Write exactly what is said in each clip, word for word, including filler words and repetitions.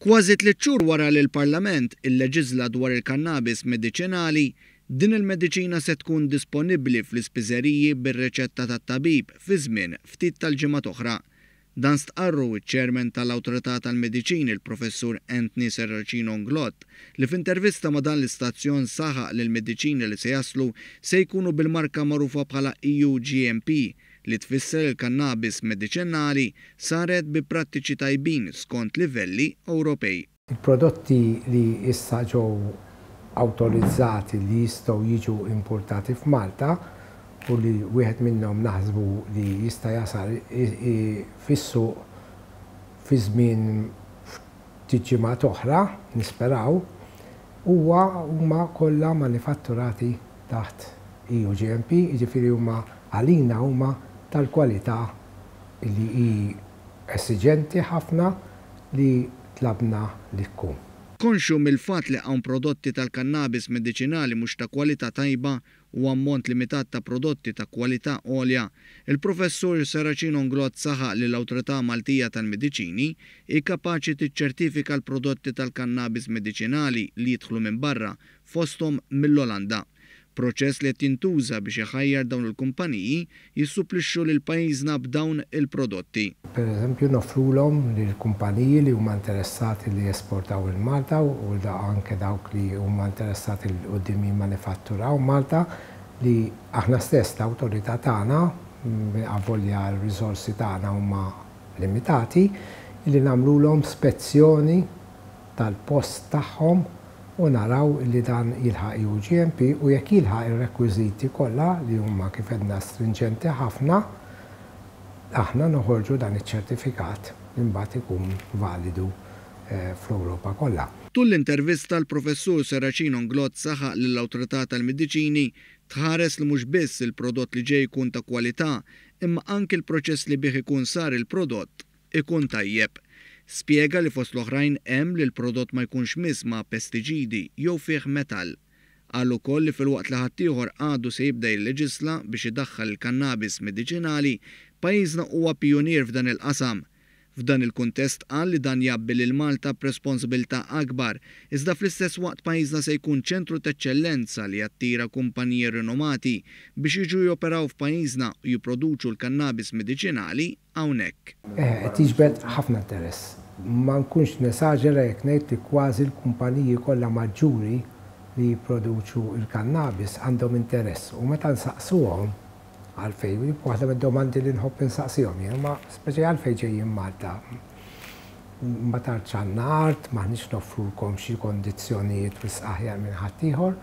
Kważi tliet xhur wara li l-Parlament illeġiżla dwar il-kannabis mediċinali, din il-mediċina se tkun disponibbli fl-ispiżeriji bir-riċetta tat-tabib fi żmien ftit tal-ġimgħat oħra. Dan stqarru iċ-Chairman tal-Awtorità tal-Mediċini, il-Professur Anthony Serracino Inglott, li f'intervista ma' dan l-istazzjon saħaq li l-mediċini li se jaslu se jkunu bil-marka magħrufa bħala E U G M P, li tfisser il-kannabis mediċinali saret bi prattiċi tajbin skont livelli Ewropej. Il-prodotti li issa ġew awtorizzati li jistgħu jiġu importati f'Malta u li wieħed minnhom naħsbu li jista' jasal fis-suq fi żmien ftit ġimgħat oħra, nisperaw, huwa huma kollha manifatturati taħt E U G M P, jiġifieri huma għalina huma tal-kwalità li hi esiġenti ħafna li tlabna li tkun. Konxju mill-fatt li hawn prodotti tal-kannabis mediċinali mhux ta' kwalità tajba u ammont limitat ta' prodotti ta' kwalità għolja, il-Professur Serracino Inglott saħaq li l-Awtorità Maltija tal-Mediċini hi kapaċi tiċċertifika l-prodotti tal-kannabis mediċinali li jidħlu minn barra, fosthom mill-Olanda. Proċess li qed jintuża biex iħajjar dawn il-kumpaniji jissuplixxu lil pajjiżna b'dawn il-prodotti. Per eżempju, noffrulhom lill-kumpaniji li huma interessati li jesportaw 'il Malta u da anke dawk li huma interessati 'l quddiem jimmanifatturaw Malta li aħna stess l-awtorità tagħna, avolja r-riżorsi tagħna huma limitati, li nagħmlulhom spezzjoni tal-post tagħhom u naraw li dan jilħaq E U G M P u jekk jilħaq ir-rekwiżiti kollha, li huma, kif għedna, stringenti ħafna, aħna noħorġu dan iċ-ċertifikat li mbagħad ikun validu eh, fl-Ewropa kollha. Tul l-intervista, l-Professur Serracino Inglott saħaq li l-Awtorità tal-Mediċini tħares li mhux biss il-prodott li ġej jkun ta' kwalità, imma anki l-proċess li bih ikun sar il-prodott ikun tajjeb. Spjega li fost l-oħrajn hemm li l-prodott ma jkunx miss ma' pestiċidi jew fih metall. Qal ukoll li filwaqt li ħaddieħor għadu se jibda jilleġisla biex idaħħal il-kannabis mediċinali, pajjiżna huwa pionier f'dan il-qasam. F'dan il-kuntest qal li dan jgħabbi lil Malta b'responsabilità akbar, iżda fl-istess waqt pajjiżna se jkun ċentru t'eċċellenza li jattira kumpaniji rinomati biex jiġu joperaw f'pajjiżna u jipproduċu l-kannabis mediċinali hawnhekk. Eh, qed jiġbed ħafna interess. Ma nkunx nesaġera jekk ngħid li kważi l-kumpaniji kollha maġġuri li jipproduċu il-kannabis għandhom interess u meta nsaqsuhom għalfejn, waħda mid-domandi li nħobb insaqsihom jien, ma speċi għalfejn ġejjin Malta? Ma tantx għandna art, m'aħniex noffrulkom xi kondizzjonijiet wisq aħjar minn ħaddieħor,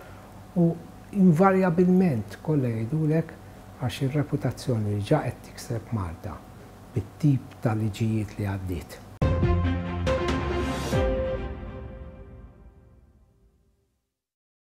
u invarjabilment kollha jgħidulek għax ir-reputazzjoni li ġa qed tikseb Malta bit-tip ta' liġijiet li għaddiet.